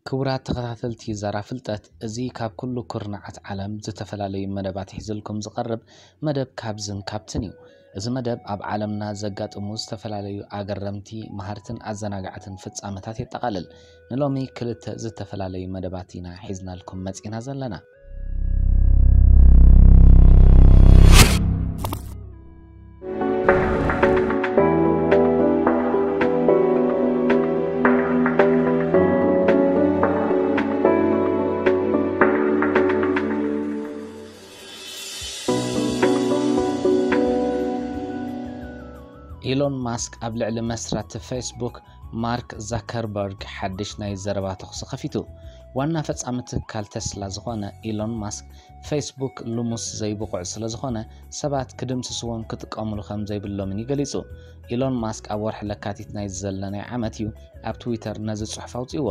ክቡራት ተኸታተልቲ ዛራ ፍልጠት፣ እዚ ካብ ኩሉ ኩርናዓት ዓለም ዝተፈላለዩ መደባት ሒዝልኩም ዝቐርብ መደብ ካብዝን ካብትን እዩ። እዚ መደብ ኣብ ዓለምና ዘጋጥሙ ዝተፈላለዩ ኣገረምቲ፣ መሃርትን ኣዘናጋዕትን ፍጻመታት የጠቓልል። ንሎሚ ክልተ ዝተፈላለዩ መደባት ኢና ሒዝናልኩም መጺና ዘለና። ኢሎን ማስክ ኣብ ልዕሊ መስራቲ ፌስቡክ ማርክ ዛከርበርግ ሓድሽ ናይ ዘረባ ተኹሲ ከፊቱ። ዋና ፈጻሚ ትካል ተስላ ዝኾነ ኢሎን ማስክ፣ ፌስቡክ ልሙስ ዘይብቑዕ ስለ ዝኾነ ሰባት ክድምስስዎን ክጥቀሙሉ ከም ዘይብሎምን እዩ ገሊጹ። ኢሎን ማስክ ኣብ ወርሒ ለካቲት ናይ ዘለናይ ዓመት እዩ ኣብ ትዊተር ነዚ ጽሑፍ ኣውጺእዎ።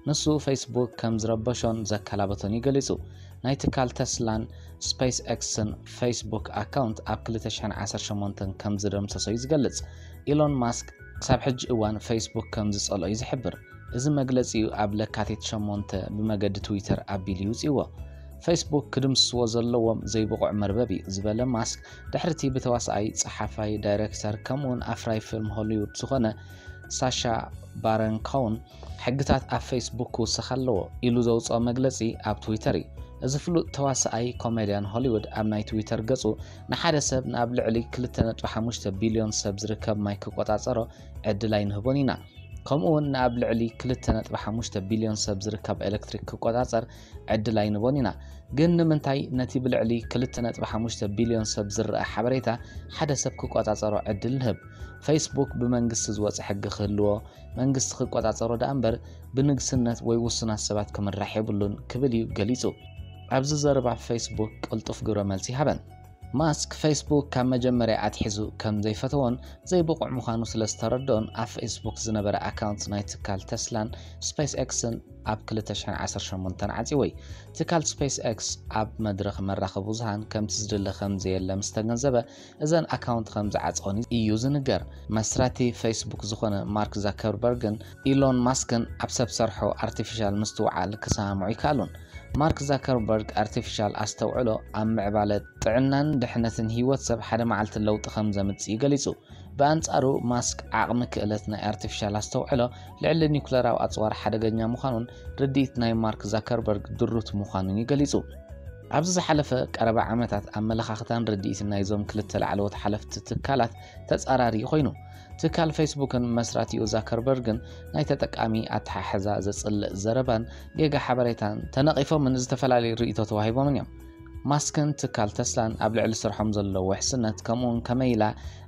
ንሱ ፌስቡክ ከም ዝረበሾን ዘከላበቶን እዩ ገሊጹ። ናይ ትካል ተስላን ስፔስ ኤክስን ፌስቡክ ኣካውንት ኣብ ክልተ ሽሕን ዓሰርተ ሸሞንተን ከም ዝደምሰሶ እዩ ዝገልጽ። ኢሎን ማስክ ክሳብ ሕጂ እዋን ፌስቡክ ከም ዝጸልኦ እዩ ዝሕብር። እዚ መግለጺኡ ኣብ ለካቲት ሸሞንተ ብመገዲ ትዊተር ኣቢሉ ይውጽእዎ። ፌስቡክ ክድምስስዎ ዘለዎም ዘይብቑዕ መርበብ እዩ ዝበለ ማስክ፣ ድሕርቲ ብተዋሳኣይ፣ ጸሓፋይ፣ ዳይሬክተር ከምኡውን ኣፍራይ ፊልም ሆሊውድ ዝኾነ ሳሻ ባረን ኮውን ሕግታት ኣብ ፌስቡክ ክውስኽ ኣለዎ ኢሉ ዘውጽኦ መግለጺ ኣብ ትዊተር እዩ። እዚ ፍሉጥ ተዋሳኣይ ኮሜድያን ሆሊውድ ኣብ ናይ ትዊተር ገጹ ንሓደ ሰብ ንኣብ ልዕሊ ክልተ ነጥቢ ሓሙሽተ ቢልዮን ሰብ ዝርከብ ማይ ክቆጻጸሮ ዕድል ኣይንህቦን ኢና። ከምኡ እውን ንኣብ ልዕሊ ክልተ ነጥቢ ሓሙሽተ ቢልዮን ሰብ ዝርከብ ኤሌክትሪክ ክቆጻጸር ዕድል ኣይንቦን ኢና። ግን ንምንታይ ነቲ ብልዕሊ ክልተ ነጥቢ ሓሙሽተ ቢልዮን ሰብ ዝረኣ ሓበሬታ ሓደ ሰብ ክቆጻጸሮ ዕድል ንህብ? ፌስቡክ ብመንግስቲ ዝወጸ ሕጊ ክህልዎ፣ መንግስቲ ክቆጻጸሮ ደኣ እምበር ብንግስነት ወይ ውሱናት ሰባት ክምራሕ የብሉን ክብል እዩ ገሊጹ። ኣብዚ ዘረባ ፌስቡክ ቅልጡፍ ግብረ መልሲ ሃበን። ማስክ ፌስቡክ ካብ መጀመርያ ኣትሒዙ ከም ዘይፈተዎን ዘይብቑዕ ምዃኑ ስለ ዝተረድኦን ኣብ ፌስቡክ ዝነበረ ኣካውንት ናይ ትካል ተስላን ስፔስ ኤክስን ኣብ ክልተ ሽሕን ዓሰርተ ሸሞንተን ዓጺወይ። ትካል ስፔስ ኤክስ ኣብ መድረኽ መራኸቢ ብዙሃን ከምቲ ዝድለ ከም ዘየለ ምስ ተገንዘበ እዘን ኣካውንት ከም ዝዓጸወን እዩ ዝንገር። መስራቲ ፌስቡክ ዝኾነ ማርክ ዛከርበርግን ኢሎን ማስክን ኣብ ሰብ ሰርሖ ኣርቲፊሻል ምስትውዓል ክሰማምዑ ይከኣሉን። ማርክ ዛከርበርግ ኣርቲፊሻል ኣስተውዕሎ ኣብ ምዕባለ ጥዕናን ድሕነትን ህይወት ሰብ ሓደ መዓልቲ ለውጢ ከም ዘምጽእ እዩ ገሊጹ። ብኣንጻሩ ማስክ ዓቕሚ ክእለት ናይ ኣርቲፊሻል ኣስተውዕሎ ልዕሊ ኒኩለራዊ ኣጽዋር ሓደገኛ ምዃኑን ርድኢት ናይ ማርክ ዛከርበርግ ድሩት ምዃኑን እዩ ገሊጹ። ኣብዚ ዝሓለፈ ቀረባ ዓመታት ኣመለኻኽታን ርድኢትን ናይዞም ክልተ ላዕለዎት ሓለፍቲ ትካላት ተጻራሪ ኮይኑ። ትካል ፌስቡክን መስራቲኡ ዛከርበርግን ናይ ተጠቃሚ ኣተሓሕዛ ዘጽልእ ዘረባን ጌጋ ሓበሬታን ተነቒፎምን ዝተፈላለዩ ርእይቶ ተዋሂቦምን እዮም። ማስክን ትካል ተስላን ኣብ ልዕሊ ስርሖም ዘለዎ ውሕስነት ከምኡውን ከመይ ኢላ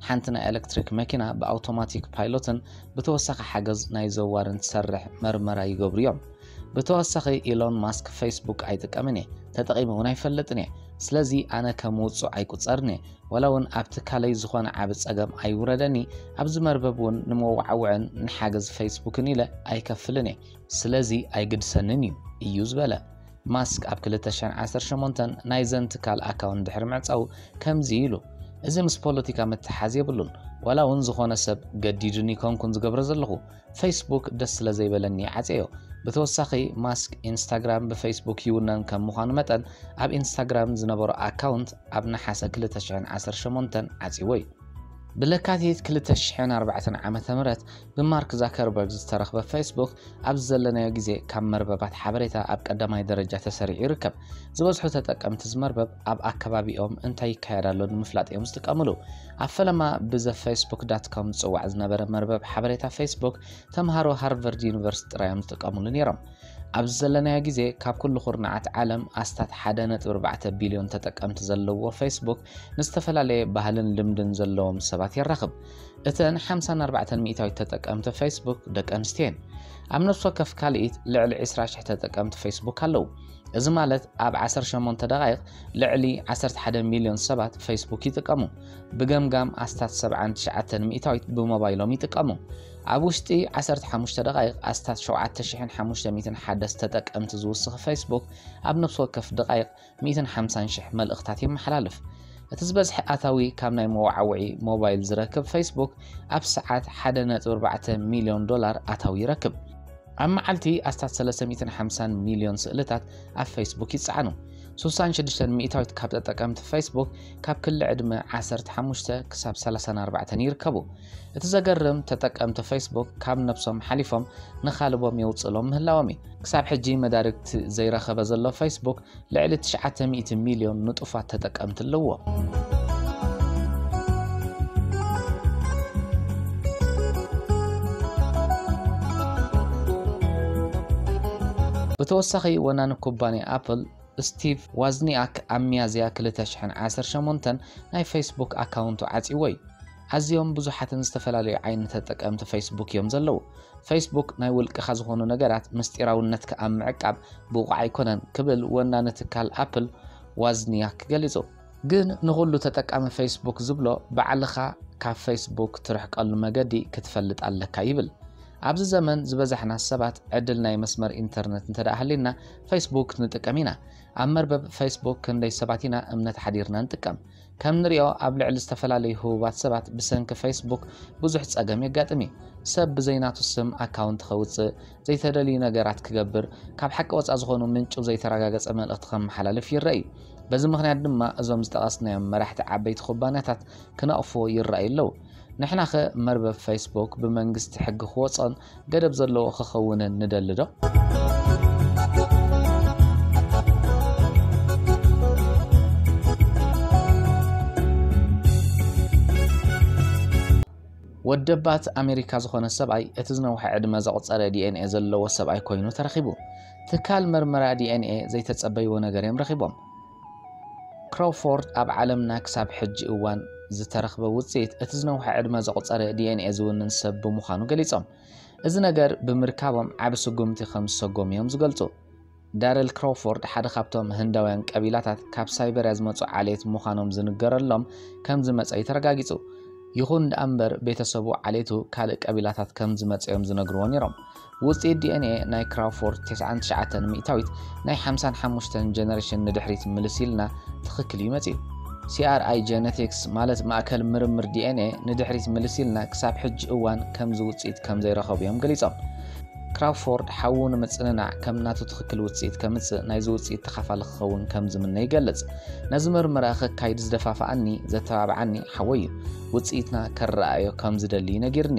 ሓንቲ ናይ ኤሌክትሪክ መኪና ብኣውቶማቲክ ፓይሎትን ብተወሳኺ ሓገዝ ናይ ዘዋርን ትሰርሕ መርመራ ይገብሩ እዮም። ብተወሳኺ ኢሎን ማስክ ፌስቡክ ኣይጥቀምን እየ፣ ተጠቒመ እውን ኣይፈልጥን እየ። ስለዚ ኣነ ከም ውጹዕ ኣይቁጸርን እየ። ዋላ እውን ኣብ ትካለይ ዝኾነ ዓቢ ጸገም ኣይውረደኒ፣ ኣብዚ መርበብ እውን ንመወዓውዕን ንሓገዝ ፌስቡክን ኢለ ኣይከፍልን እየ። ስለዚ ኣይግድሰንን እዩ፣ እዩ ዝበለ። ማስክ ኣብ ክልተ ሽሕን ዓሰርተ ሸሞንተን ናይዘን ትካል ኣካውንት ድሕሪ ምዕጻው ከምዚ ኢሉ፣ እዚ ምስ ፖለቲካ ምትሓዝ የብሉን። ዋላ እውን ዝኾነ ሰብ ገዲዱኒ ኮንኩን ዝገብሮ ዘለኹ፣ ፌስቡክ ደስ ስለ ዘይበለኒ ዓጽዮ። ብተወሳኺ ማስክ ኢንስታግራም ብፌስቡክ ይውነን ከም ምዃኑ መጠን ኣብ ኢንስታግራም ዝነበሮ ኣካውንት ኣብ ነሓሰ ክልተ ሽሕን ዓሰርተ ሸሞንተን ዓጽዎ እዩ። ብለካቲት ክልተ ሽሕን ኣርባዕተን ዓመተ ምህረት ብማርክ ዛከርበርግ ዝተረኽበ ፌስቡክ ኣብዚ ዘለናዮ ግዜ ካብ መርበባት ሓበሬታ ኣብ ቀዳማይ ደረጃ ተሰሪዑ ይርከብ። ዝበዝሑ ተጠቀምቲ እዚ መርበብ ኣብ ኣከባቢኦም እንታይ ይካየድ ኣሎ ንምፍላጥ እዮም ዝጥቀምሉ። ኣብ ፈለማ ብዘ ፌስቡክ ዳት ኮም ዝጽዋዕ ዝነበረ መርበብ ሓበሬታ ፌስቡክ ተምሃሮ ሃርቨርድ ዩኒቨርሲቲ ጥራይ እዮም ዝጥቀምሉ ነይሮም። ኣብዚ ዘለናዮ ግዜ ካብ ኩሉ ኩርናዓት ዓለም ኣስታት ሓደ ነጥቢ ኣርባዕተ ቢልዮን ተጠቀምቲ ዘለዎ ፌስቡክ ንዝተፈላለየ ባህልን ልምድን ዘለዎም ሰባት የራኽብ። እተን ሓምሳን ኣርባዕተን ሚእታዊት ተጠቀምቲ ፌስቡክ ደቂ ኣንስትዮ እየን። ኣብ ነፍሲ ወከፍ ካልኢት ልዕሊ ዕስራ ሽሕ ተጠቀምቲ ፌስቡክ ኣለዉ። እዚ ማለት ኣብ ዓሰርተ ሸሞንተ ደቓይቕ ልዕሊ ዓሰርተ ሓደ ሚልዮን ሰባት ፌስቡክ ይጥቀሙ። ብገምጋም ኣስታት ሰብዓን ትሽዓተን ሚእታዊት ብሞባይሎም ይጥቀሙ። ኣብ ውሽጢ ዓሰርተ ሓሙሽተ ደቓይቕ ኣስታት ሸውዓተ ሽሕን ሓሙሽተ ሚእትን ሓደስተ ተጠቀምቲ ዝውስኽ ፌስቡክ ኣብ ነፍሲ ወከፍ ደቓይቕ ሚእትን ሓምሳን ሽሕ መልእኽታት የመሓላልፍ። እቲ ዝበዝሐ ኣታዊ ካብ ናይ መወዓውዒ ሞባይል ዝረክብ ፌስቡክ ኣብ ሰዓት ሓደ ነጥቢ ኣርባዕተ ሚልዮን ዶላር ኣታዊ ይረክብ። ኣብ መዓልቲ ኣስታት ሰለስተ ሚእትን ሓምሳን ሚልዮን ስእልታት ኣብ ፌስቡክ ይጸዓኑ። ስሳን ሽዱሽተን ሚእታዊት ካብ ተጠቀምቲ ፌስቡክ ካብ ክሊ ዕድመ ዓሰርተ ሓሙሽተ ክሳብ ሰላሳን ኣርባዕተን ይርከቡ። እቲ ዘገርም፣ ተጠቀምቲ ፌስቡክ ካብ ነብሶም ሓሊፎም ንኻልቦም የውጽእሎም ምህላዎም እዩ። ክሳብ ሕጂ መዳርግቲ ዘይረኸበ ዘሎ ፌስቡክ ልዕሊ ትሽዓተ ሚእቲ ሚልዮን ንጡፋት ተጠቀምቲ ኣለዎ። ብተወሳኺ፣ ወናኒ ኩባንያ ኣፕል ስቲቭ ዋዝኒኣክ ኣብ ሚያዝያ ክልተ ሽሕን ዓሰርተ ሸሞንተን ናይ ፌስቡክ ኣካውንቱ ዓጺዎ እዩ። ኣዝዮም ብዙሓትን ዝተፈላለዩ ዓይነት ተጠቀምቲ ፌስቡክ እዮም ዘለዉ። ፌስቡክ ናይ ውልቅኻ ዝኾኑ ነገራት ምስጢራውነትካ ኣብ ምዕቃብ ብቑዕ ኣይኮነን ክብል ወናኒ ትካል ኣፕል ዋዝኒያክ ገሊጹ። ግን ንኹሉ ተጠቃሚ ፌስቡክ ዝብሎ ባዕልኻ ካብ ፌስቡክ ትርሕቀሉ መገዲ ክትፈልጥ ኣለካ ይብል። ኣብዚ ዘመን ዝበዛሕና ሰባት ዕድል ናይ መስመር ኢንተርነት እንተ ደኣ ሃልዩና ፌስቡክ ንጥቀም ኢና። ኣብ መርበብ ፌስቡክ ክንደይ ሰባት ኢና እምነት ሓዲርና ንጥቀም? ከም ንሪኦ ኣብ ልዕሊ ዝተፈላለዩ ህቡባት ሰባት ብሰንኪ ፌስቡክ ብዙሕ ጸገም የጋጥም እዩ። ሰብ ብዘይናቱ ስም ኣካውንት ከውጽእ፣ ዘይተደልዩ ነገራት ክገብር፣ ካብ ሓቂ ወጻእ ዝኾኑ ምንጩ ዘይተረጋገጸ መልእኽቲ ከመሓላልፍ ይረአ እዩ። በዚ ምኽንያት ድማ እዞም ዝጠቐስናዮም መራሕቲ ዓበይቲ ኩባንያታት ክነቕፍዎ ይረኣዩ ኣለዉ። ንሕናኸ መርበብ ፌስቡክ ብመንግስቲ ሕጊ ክወጾን ገደብ ዘለዎ ክኸውንን ንደሊ ዶ? ወደባት ኣሜሪካ ዝኾነ ሰብኣይ እቲ ዝነውሐ ዕድመ ዘቑጸረ ዲኤንኤ ዘለዎ ሰብኣይ ኮይኑ ተረኺቡ። ትካል መርመራ ዲኤንኤ ዘይተጸበይዎ ነገር እዮም ረኺቦም። ክራውፎርድ ኣብ ዓለምና ክሳብ ሕጂ እዋን ዝተረኽበ ውጽኢት እቲ ዝነውሐ ዕድመ ዘቑጸረ ዲኤንኤ ዝውንን ሰብ ብምዃኑ ገሊጾም። እዚ ነገር ብምርካቦም ዓቢ ስጉምቲ ከም ዝሰጎሙ እዮም ዝገልጹ። ዳረል ክራውፎርድ ሓደ ካብቶም ህንዳውያን ቀቢላታት ካብ ሳይበርያ ዝመጹ ዓሌት ምዃኖም ዝንገረሎም ከም ዝመጸ እዩ ተረጋጊጹ። ይኹን ደኣ እምበር ቤተሰቡ ዓሌቱ ካልእ ቀቢላታት ከም ዝመጸ እዮም ዝነግርዎ ነይሮም። ውጽኢት ዲኤንኤ ናይ ክራውፎርድ ተስዓን ትሽዓተን ሚእታዊት ናይ ሓምሳን ሓሙሽተን ጀነሬሽን ንድሕሪት ምልስ ኢልና ትኽክል እዩ መጺኡ። ሲኣርኣይ ጀነቲክስ ማለት ማእከል ምርምር ዲኤንኤ ንድሕሪት ምልስ ኢልና ክሳብ ሕጂ እዋን ከምዚ ውጽኢት ከም ዘይረኸቡ እዮም ገሊጾም። ክራውፎርድ ሓዉ ንምጽንናዕ ከም ናቱ ትኽክል ውጽኢት ከምጽእ ናይዚ ውጽኢት ተኻፋሊ ክኸውን ከም ዝምነ ይገልጽ። ነዚ መርመራ ከካይድ ዝደፋፍኣኒ፣ ዘተባብዓኒ ሓወይ እዩ። ውጽኢትና ከረኣዮ ከም ዝደሊ ነጊርኒ።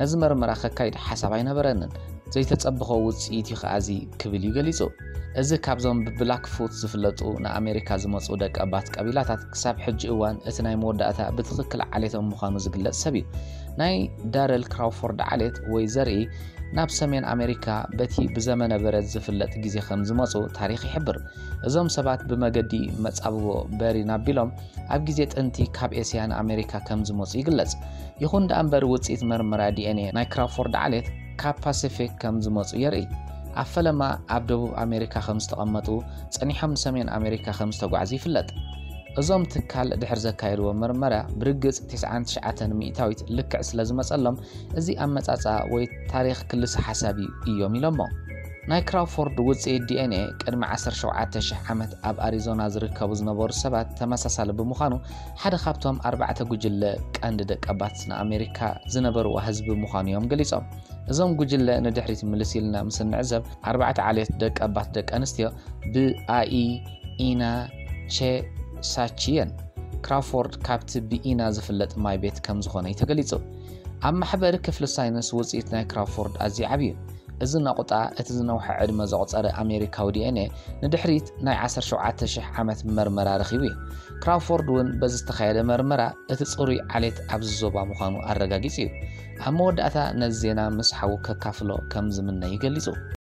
ነዚ መርመራ ከካይድ ሓሳብ ኣይነበረንን። ዘይተጸበኾ ውጽኢት እዩ ከኣ እዚ ክብል እዩ ገሊጹ። እዚ ካብዞም ብብላክፉት ዝፍለጡ ንኣሜሪካ ዝመጹ ደቂ ኣባት ቀቢላታት ክሳብ ሕጂ እዋን እቲ ናይ መወዳእታ ብትኽክል ዓሌቶም ምዃኑ ዝግለጽ ሰብ እዩ። ናይ ዳረል ክራውፎርድ ዓሌት ወይ ዘርኢ ናብ ሰሜን ኣሜሪካ በቲ ብዘመነ በረድ ዝፍለጥ ግዜ ከም ዝመጹ ታሪኽ ይሕብር። እዞም ሰባት ብመገዲ መጻብቦ በሪን ኣቢሎም ኣብ ግዜ ጥንቲ ካብ ኤስያ ንኣሜሪካ ከም ዝመጹ ይግለጽ። ይኹን ደኣ እምበር ውጽኢት መርመራ ዲኤንኤ ናይ ክራውፎርድ ዓሌት ካብ ፓሲፊክ ከም ዝመጹ የርኢ። ኣብ ፈለማ ኣብ ደቡብ ኣሜሪካ ከም ዝተቐመጡ፣ ጸኒሖም ንሰሜን ኣሜሪካ ከም ዝተጓዕዙ ይፍለጥ። እዞም ትካል ድሕር ዘካየድዎ መርመራ ብርግጽ ተስዓን ትሽዓተን ሚእታዊት ልክዕ ስለ ዝመጸሎም፣ እዚ ኣመጻጽኣ ወይ ታሪኽ ክልሰ ሓሳብ እዩ እዮም ኢሎሞ። ናይ ክራውፎርድ ውጽኢት ዲኤንኤ ቅድሚ ዓሰርተ ሸውዓተ ሽሕ ዓመት ኣብ ኣሪዞና ዝርከቡ ዝነበሩ ሰባት ተመሳሳሊ ብምዃኑ፣ ሓደ ካብቶም ኣርባዕተ ጉጅለ ቀንዲ ደቀባት ንኣሜሪካ ዝነበርዋ ህዝቢ ምዃኑ እዮም ገሊጾም። እዞም ጉጅለ ንድሕሪት ምልስ ኢልና ምስ እንዕዘብ፣ ኣርባዕተ ዓሌት ደቀባት ደቂ ኣንስትዮ ብኣኢ፣ ኢና፣ ቼ፣ ሳቺ እየን። ክራውፎርድ ካብቲ ብኢና ዝፍለጥ ማይ ቤት ከም ዝኾነ እዩ ተገሊጹ። ኣብ ማሕበሪ ክፍሊ ሳይንስ ውጽኢት ናይ ክራውፎርድ ኣዝዩ ዓቢ እዩ። እዚ ነቑጣ እቲ ዝነውሐ ዕድመ ዘቑጸረ ኣሜሪካዊ ዲኤንኤ ንድሕሪት ናይ ዓሰርተ ሸውዓተ ሽሕ ዓመት መርመራ ረኺቡ እዩ። ክራውፎርድ እውን በዚ ዝተኻየደ መርመራ እቲ ጽሩይ ዓሌት ኣብዚ ዞባ ምዃኑ ኣረጋጊጹ እዩ። ኣብ መወዳእታ ነዚ ዜና ምስ ሓዉ ከካፍሎ ከም ዝምነ እዩ ገሊጹ።